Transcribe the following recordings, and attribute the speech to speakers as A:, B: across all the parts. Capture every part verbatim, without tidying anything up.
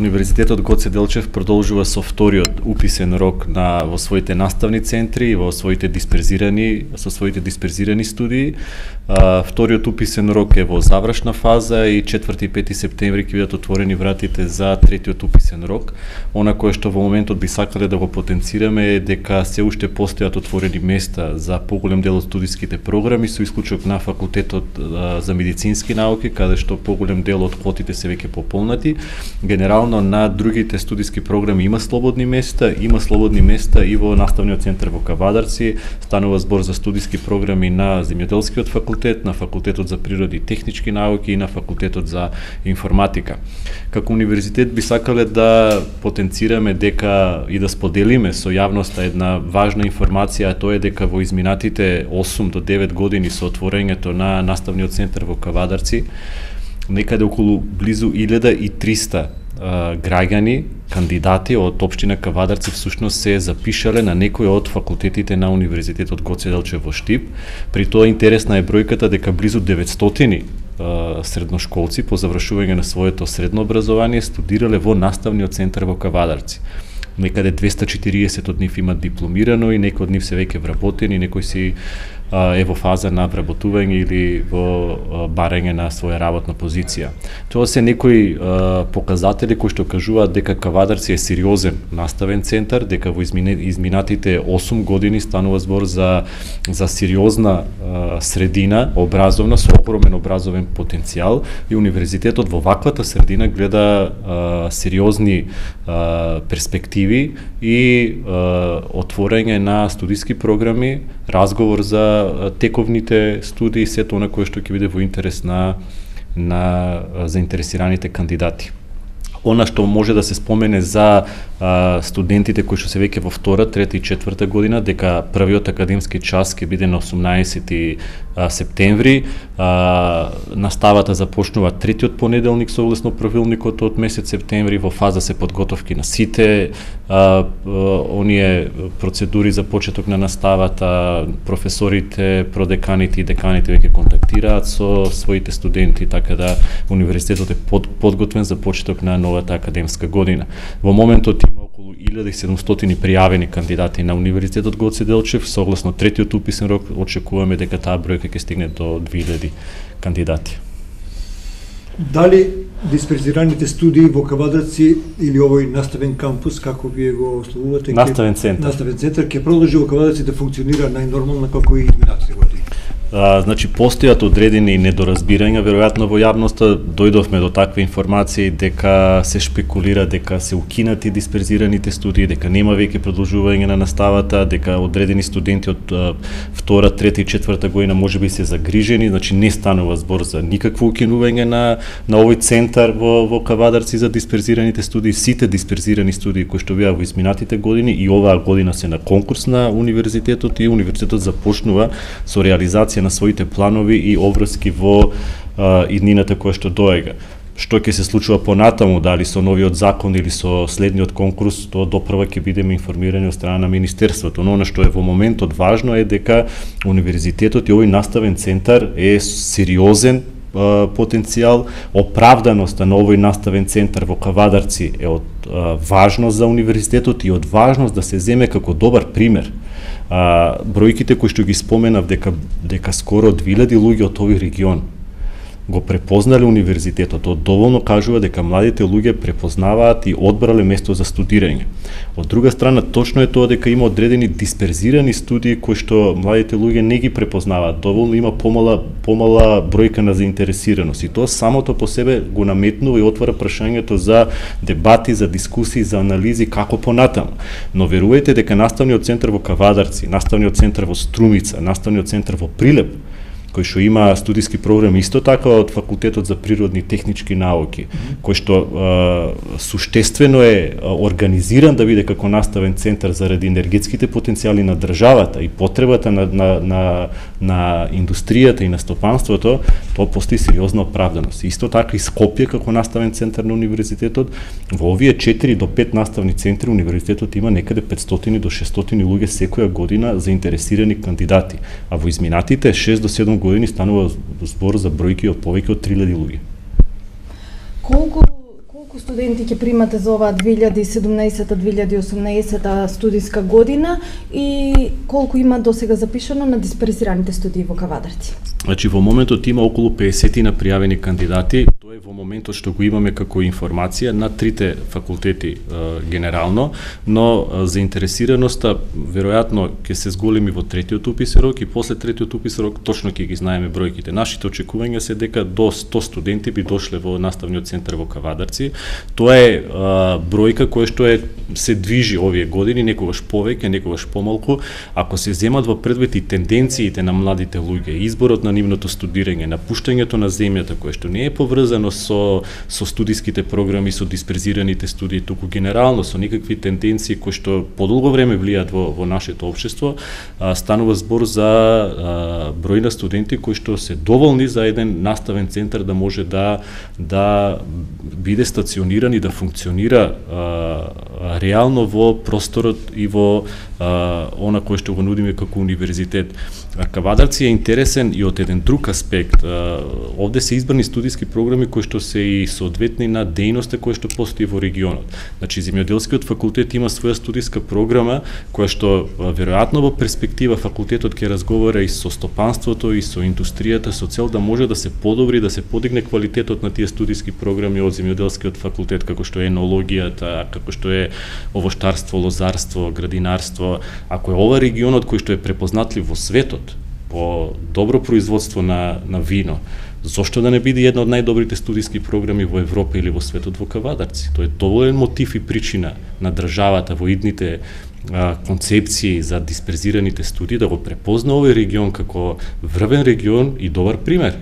A: Универзитетот Гоце Делчев продолжува со вториот уписен рок на во своите наставни центри и во своите дисперзирани со своите дисперзирани студии. А, вториот уписен рок е во завршна фаза и четврти и пети септември ќе бидат отворени вратите за третиот уписен рок. Она кое што во моментот би сакале да го потенцираме е дека се уште постојат отворени места за поголем дел од студиските програми, со исклучок на факултетот а, за медицински науки, каде што поголем дел од квотите се веќе пополнати. Генерално на другите студиски програми има слободни места, има слободни места и во наставниот центар во Кавадарци. Станува збор за студиски програми на земјоделскиот факултет, на факултетот за природи и технички науки и на факултетот за информатика. Како универзитет би сакале да потенцираме дека и да споделиме со јавноста една важна информација, а тоа е дека во изминатите осум до девет години со отворањето на наставниот центар во Кавадарци, некаде околу близу илјада и триста а, граѓани, кандидати од општина Кавадарци всушност се запишале на некој од факултетите на Универзитетот Гоце Делчев во Штип. При тоа интересна е бројката дека близу деветстотини а, средношколци по завршување на своето средно образование студирале во наставниот центар во Кавадарци. Некаде двеста и четириесет од нив имат дипломирано и некои од нив се веќе вработени, некој си е во фаза на вработување или во барање на своја работна позиција. Тоа се некои показатели кои што кажуваат дека Кавадарци е сериозен наставен центар, дека во изминатите осум години станува збор за за сериозна средина, образовна, со огромен образовен потенцијал, и универзитетот во ваквата средина гледа сериозни перспективи и отворање на студиски програми, разговор за тековните студии, сето она кое што ќе биде во интерес на на заинтересираните кандидати. Она што може да се спомене за а, студентите кои што се веќе во втора, трета и четврта година, дека првиот академски час ќе биде на осумнаесети септември, а, наставата започнува третиот понеделник согласно правилникот од месец септември, во фаза се подготовки на сите а, а, оние процедури за почеток на наставата, професорите, продеканите и деканите веќе контактираат со своите студенти, така да универзитетот е под, подготвен за почеток на новата академска година. Во моментот има околу илјада и седумстотини пријавени кандидати на Универзитетот Гоце Делчев. Согласно третиот уписен рок, очекуваме дека таа бројка ќе стигне до две илјади кандидати.
B: Дали дисперзираните студии во Кавадарци или овој наставен кампус, како вие го ословувате,
A: наставен центар,
B: наставен центар ќе продолжи во Кавадарци да функционира најнормално како и изминатите години?
A: А, значи, постојат одредени недоразбирања, веројатно во јавноста дојдовме до такви информации дека се шпекулира дека се укинати дисперзираните студии, дека нема веќе продолжување на наставата, дека одредени студенти од а, втора, трета и четврта година можеби се загрижени, значи не станува збор за никакво укинување на на овој центар во во Кавадарци за дисперзираните студии. Сите дисперзирани студии кои што беа во изминатите години и оваа година се на конкурс на универзитетот, и универзитетот започнува со реализација на своите планови и обврски во а, иднината која што доега. Што ќе се случува понатаму, дали со новиот закон или со следниот конкурс, тоа допрва ќе бидеме информирани од страна на Министерството. Но она што е во моментот важно е дека универзитетот и овој наставен центар е сериозен а, потенцијал. Оправданоста на овој наставен центар во Кавадарци е од а, важност за универзитетот и од важност да се земе како добар пример. А, бројките кои што ги споменав, дека дека скоро две илјади луѓе од овој регион го препознале универзитетот, тоа доволно кажува дека младите луѓе препознаваат и одбрале место за студирање. Од друга страна, точно е тоа дека има одредени дисперзирани студии кои што младите луѓе не ги препознаваат доволно, има помала помала бројка на заинтересираност, и тоа самото по себе го наметнува и отвара прашањето за дебати, за дискусии, за анализи како понатаму. Но верувајте дека наставниот центар во Кавадарци, наставниот центар во Струмица, наставниот центар во Прилеп, кој што има студиски програми исто така од Факултетот за природни и технички науки, кој што а, суштествено е организиран да биде како наставен центар заради енергетските потенцијали на државата и потребата на, на, на, на индустријата и на стопанството, тоа постои сериозна оправданост. Исто така и Скопје како наставен центар на универзитетот, во овие четири до пет наставни центри универзитетот има некаде петстотини до шестстотини луѓе секоја година заинтересирани кандидати, а во изминатите шест до седум години станува збор за бројки од повеќе од три илјади луѓе.
C: Колку Колку студенти ќе примате за оваа две илјади и седумнаесета две илјади и осумнаесета студиска година и колку има досега запишано на дисперзираните студии во Кавадарци?
A: Значи во моментот има околу песет на пријавени кандидати, тоа е во моментот што го имаме како информација на трите факултети е, генерално, но е, заинтересираноста веројатно ќе се зголеми во третиот уписен рок и после третиот уписен рок точно ќе ги знаеме бројките. Нашите очекувања се дека до сто студенти би дошле во наставниот центар во Кавадарци. Тоа е а, бројка која што е се движи овие години, некогаш повеќе, некогаш помалку. Ако се земат во предвид и тенденциите на младите луѓе, изборот на нивното студирање, напуштањето на земјата кое што не е поврзано со со студиските програми, со дисперзираните студии, туку генерално со никакви тенденции кои што подолго време влијаат во во нашето општество, а, станува збор за а, број на студенти кои што се доволни за еден наставен центар да може да да биде стациониран и да функционира а, реално во просторот и во а, она кое што го нудиме како универзитет. А Кавадарци е интересен и од еден друг аспект. А, овде се избрани студиски програми кои што се и соодветни на дејноста која што постои во регионот. Значи земјоделскиот факултет има своја студиска програма која што а, веројатно во перспектива факултетот ќе разговара и со стопанството и со индустријата со цел да може да се подобри, да се подигне квалитетот на тие студиски програми од земјоделскиот факултет, како што е енологијата, како што е овоштарство, лозарство, градинарство. Ако е ова регионот кој што е препознатлив во светот по добро производство на на вино, зошто да не биде една од најдобрите студиски програми во Европа или во светот во Кавадарци? Тоа е доволен мотив и причина на државата во идните а, концепции за дисперзираните студии да го препозна овој регион како врвен регион и добар пример.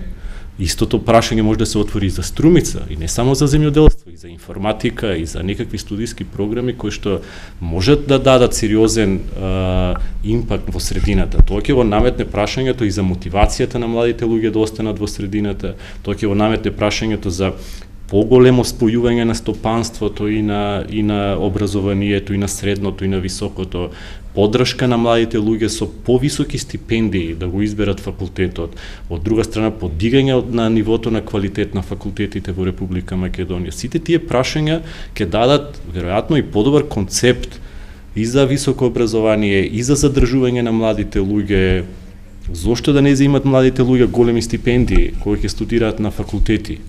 A: Истото прашање може да се отвори и за Струмица, и не само за земјоделство, и за информатика, и за некакви студиски програми кои што можат да дадат сериозен а, импакт во средината. Тоа ќе го наметне прашањето и за мотивацијата на младите луѓе да останат во средината, тоа ќе го наметне прашањето за поголемо спојување на стопанството и на и на образованието и на средното и на високото, поддршка на младите луѓе со повисоки стипендии да го изберат факултетот, од друга страна подигање на нивото на квалитет на факултетите во Република Македонија. Сите тие прашања ќе дадат веројатно и подобар концепт и за високо образование, и за задржување на младите луѓе. Зошто да не земат младите луѓе големи стипендии кои ќе студираат на факултети?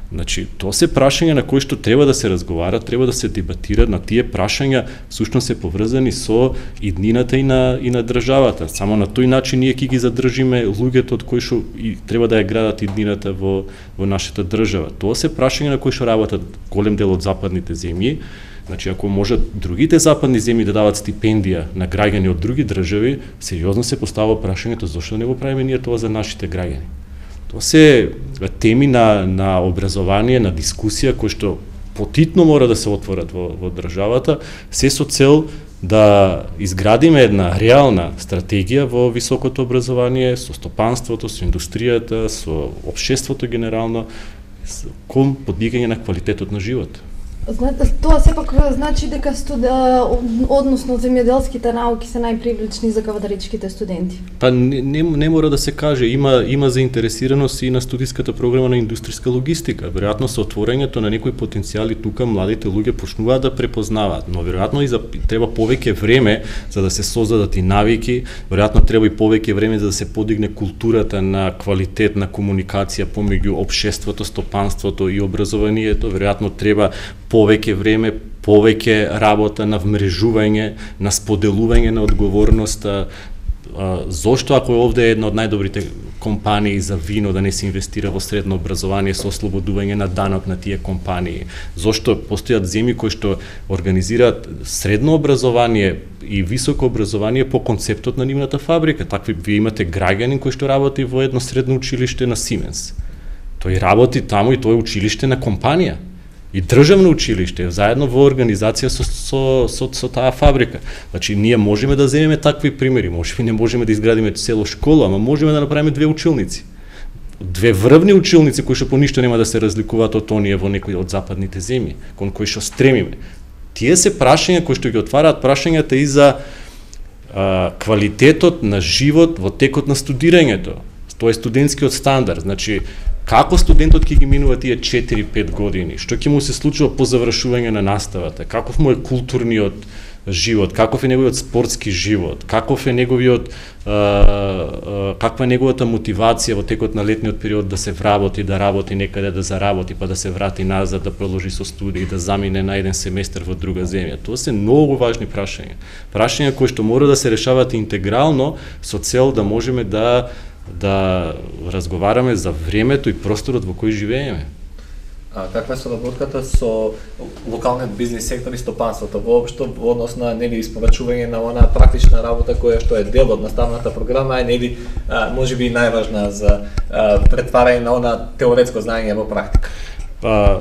A: Значи, тоа се прашања на кои што треба да се разговара, треба да се дебатира, на тие прашања всушност се поврзани со иднината и на и на државата. Само на тој начин ние ќе ги задржиме луѓето од кои што и треба да ја градат иднината во во нашата држава. Тоа се прашања на кои што работат голем дел од западните земји. Значи, ако можат другите западни земји да дават стипендија на граѓани од други држави, сериозно се поставува прашањето зошто не го правиме ние тоа за нашите граѓани. Тоа се теми на, на образование, на дискусија, кои што потитно мора да се отворат во, во државата, се со цел да изградиме една реална стратегија во високото образование, со стопанството, со индустријата, со општеството генерално, кон подигање на квалитетот на живот.
C: Тоа сепак значи дека студа, односно земјоделските науки се најпривлечни за кавадаричките студенти.
A: Па не, не, не мора да се каже, има има заинтересираност и на студиската програма на индустријска логистика. Веројатно со отворањето на некои потенцијали тука младите луѓе почнуваат да препознаваат, но веројатно и за треба повеќе време за да се создадат и навики, веројатно треба и повеќе време за да се подигне културата на квалитет на комуникација помеѓу општеството, стопанството и образованието, веројатно треба повеќе време, повеќе работа на вмрежување, на споделување на одговорноста. Зошто ако овде е една од најдобрите компании за вино да не се инвестира во средно образование со ослободување на данок на тие компании? Зошто постојат земји кои што организираат средно образование и високо образование по концептот на нивната фабрика? Такви вие имате граѓанин кој што работи во едно средно училиште на Сименс. Тој работи таму и тоа е училиште на компанија. И државно училиште, заедно во организација со, со, со, со таа фабрика. Значи, ние можеме да земеме такви примери, можеме не можеме да изградиме цело школа, ама можеме да направиме две училници. Две врвни училници кои што по ништо нема да се разликуваат од оние во некои од западните земји, кон кои што стремиме. Тие се прашања кои што ги отвараат прашањата и за а, квалитетот на живот во текот на студирањето. Тоа е студентскиот стандард, значи Како студентот ќе ги минува тие четири-пет години? Што ќе му се случува по завршување на наставата? Каков му е културниот живот, каков е неговиот спортски живот, каков е неговиот а, а, каква е неговата мотивација во текот на летниот период да се вработи, да работи некаде, да заработи, па да се врати назад, да продолжи со студии, да замине на еден семестар во друга земја. Тоа се многу важни прашања. Прашања кои што мора да се решават интегрално со цел да можеме да да разговараме за времето и просторот во кој живееме.
D: А каква е соработката со локалниот бизнис сектор и стопанството воопшто во однос на нели испорачување на онаа практична работа која што е дел од наставната програма, е нели можеби и најважна за а, претварање на онаа теоретско знаење во практика?
A: Па,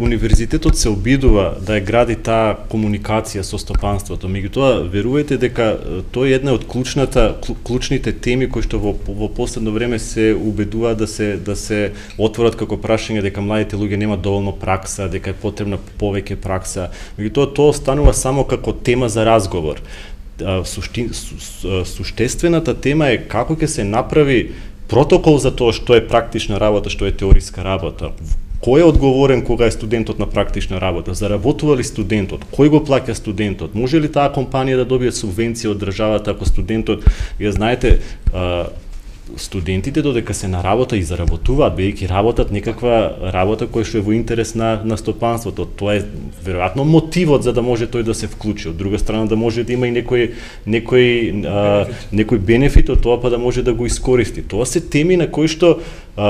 A: универзитетот се обидува да ја гради таа комуникација со стопанството, меѓутоа верувајте дека тоа е една од клучната клучните теми кои што во во последно време се убедуваат да се да се отворат како прашање, дека младите луѓе немаат доволно пракса, дека е потребна повеќе пракса. Меѓутоа тоа останува само како тема за разговор. Сушти, су, суштествената тема е како ќе се направи протокол за тоа што е практична работа, што е теориска работа. Кој е одговорен кога е студентот на практична работа? Заработува ли студентот? Кој го плаќа студентот? Може ли таа компанија да добие субвенција од државата ако студентот, ја знаете, студентите додека се на работа и заработуваат, бидејќи работат некаква работа која што е во интерес на на стопанството. Тоа е веројатно мотивот за да може тој да се вклучи. Од друга страна да може да има и некој некој а, некој бенефит од тоа, па да може да го искористи. Тоа се теми на кои што а,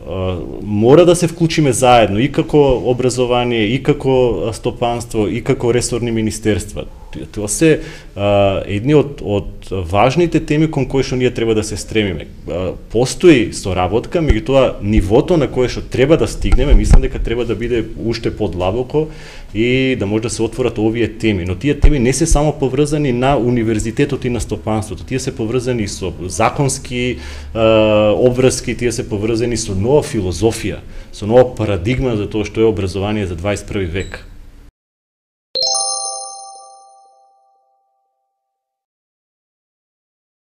A: а, мора да се вклучиме заедно и како образование, и како стопанство, и како ресорни министерства. Тоа се а, едни од, од важните теми кон кои што ние треба да се стремиме. А, постои соработка, меѓутоа нивото на кое што треба да стигнеме, мислам дека треба да биде уште подлабоко и да може да се отворат овие теми. Но тие теми не се само поврзани на универзитетот и на стопанството, тие се поврзани со законски а, обврски, тие се поврзани со нова филозофија, со нова парадигма за тоа што е образование за дваесет и први век.